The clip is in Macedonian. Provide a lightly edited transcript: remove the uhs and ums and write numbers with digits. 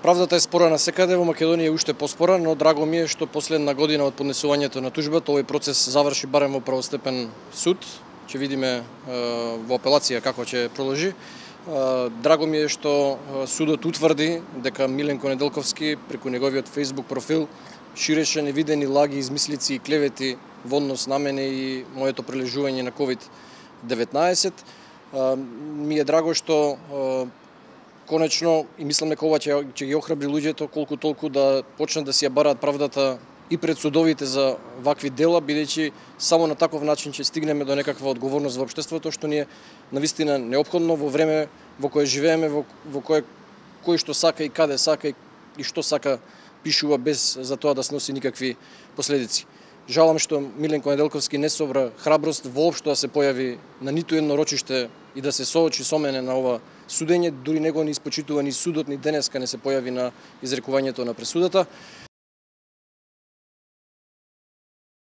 Правдата е спора насекаде, во Македонија е уште поспора, но драго ми е што последна година од поднесувањето на тужбата овој процес заврши барем во правостепен суд. Ќе видиме во апелација како ќе продолжи. Драго ми е што судот утврди дека Миленко Неделковски преку неговиот Facebook профил ширеше невидени лаги, измислици и клевети во однос на мене и моето прележување на COVID-19. Ми е драго што конечно, и мислам дека ова ќе ги охрабри луѓето колку толку да почнат да си ја бараат правдата и пред судовите за вакви дела, бидејќи само на таков начин ќе стигнеме до некаква одговорност во општеството, што ни е навистина неопходно во време во кое живееме, во кое кој што сака и каде сака и што сака пишува без за тоа да сноси никакви последици. Жалам што Миленко Неделковски не собра храброст воопшто да се појави на ниту едно рочиште и да се соочи со мене на ова судење, дури него не испочитува ни судот, ни денеска не се појави на изрекувањето на пресудата.